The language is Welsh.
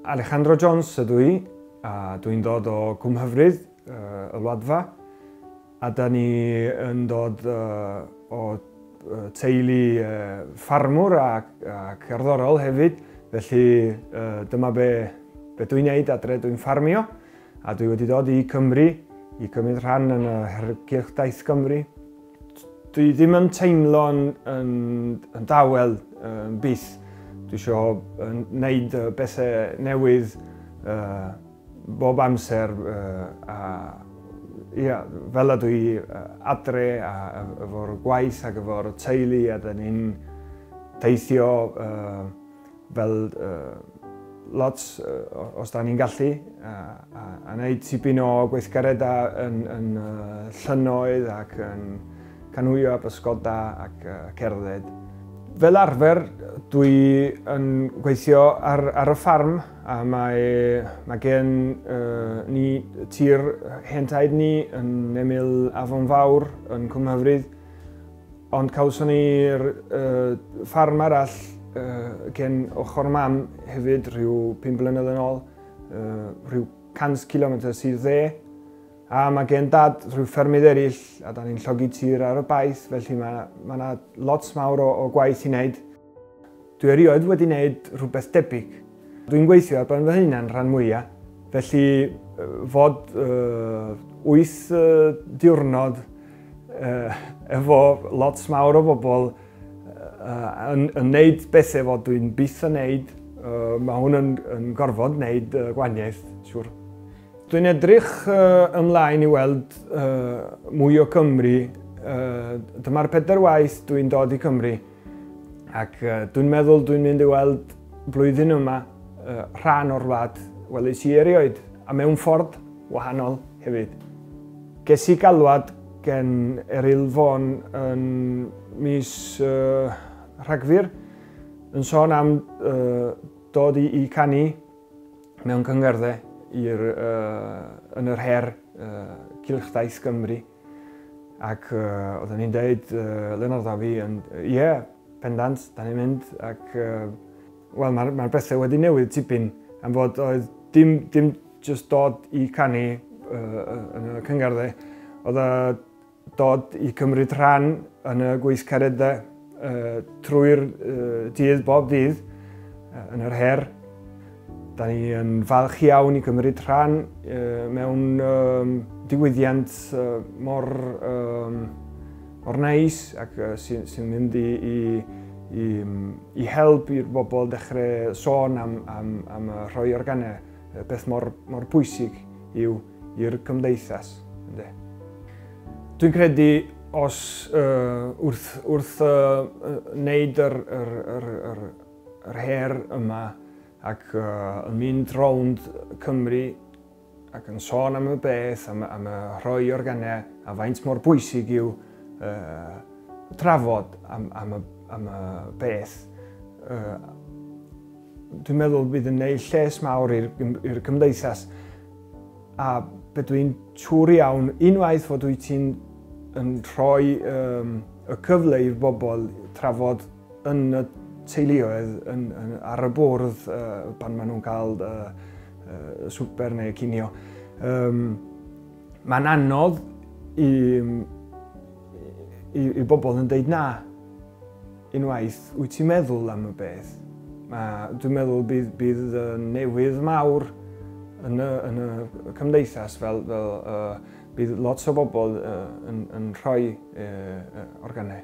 Alejandro Jones ydw i, a dwi'n dod o Cwmhyfryd, y Wladfa, a da ni yn dod o teulu ffarmwr a cerddorol hefyd, felly dyma be dwi'n neud adre, dwi'n ffarmio, a dwi wedi dod i Cymru i cymryd rhan yn y Her Cylchdaith Gymru. Dwi ddim yn teimlo'n yn dawel yn byth. Dwi eisiau wneud bethau newydd bob amser a ia, fel ydw i adre a efo'r gwaith ac efo'r teulu, a da ni'n teithio fel lot os da ni'n gallu a wneud tipyn o gweithgareddau yn llynnoedd ac yn canwio a bysgoda ac cerdded. Fel arfer, dwi yn gweithio ar y ffarm, a mae gen ni tir hen taid ni yn ymyl Afon Fawr yn Cwmhyfryd, ond cawson ni'r ffarm arall gen ochr mam hefyd rhyw 5 blynedd yn ôl, rhyw 100 km i'r dde. A mae gen dad rhyw ffermydd eraill, a da ni'n llogi tir ar y baith, felly mae yna lot mawr o gwaith i wneud. Dwi erioed wedi wneud rhywbeth debyg. Dwi'n gweithio ar ben fy hunan rhan mwyaf, felly fod 8 diwrnod efo lot mawr o bobl yn wneud bethau fod dwi'n byth yn wneud, mae hwn yn gorfod wneud gwahaniaeth, siŵr. Dwi'n edrych ymlaen i weld mwy o Cymru. Dyma'r 4 waith dwi'n dod i Cymru, ac dwi'n meddwl dwi'n mynd i weld blwyddyn yma rhan o'r wlad weles i erioed, a mewn ffordd wahanol hefyd. Ges i galwad gen Eryl Fôn yn mis Rhagfyr yn sôn am dod i canu mewn cyngherddau yn yr her Cylchdaith Gymru, ac oedden ni'n deud Leonard a fi yn ie, pendant, da ni'n mynd, ac wel, mae'r bethau wedi newid tipyn, am fod oedd dim just dod i canu yn y cyngherddau, oedd dod i cymryd rhan yn y gweithgareddau trwy'r dydd, bob dydd, yn yr her. Da ni yn falch iawn i gymryd rhan mewn digwyddiant mor neis ac sy'n mynd i help i'r bobl dechrau sôn am rhoi organau, beth mor pwysig yw i'r cymdeithas. Dwi'n credu os wrth wneud yr her yma ac yn mynd rownd Cymru ac yn sôn am y beth, am y rhoi organau, a faint mor bwysig yw trafod am y beth. Dwi'n meddwl bydd yn gwneud lles mawr i'r cymdeithas, a be dwi'n siŵr iawn, unwaith fod wyt ti'n yn rhoi y cyfle i'r bobl trafod yn y teuluoedd ar y bwrdd pan maen nhw'n cael swper neu cinio. Mae'n anodd i bobl yn deud na. Unwaith wyt ti'n meddwl am y beth. Dwi'n meddwl bydd newydd mawr yn y cymdeithas, fel bydd lot o bobl yn rhoi organau.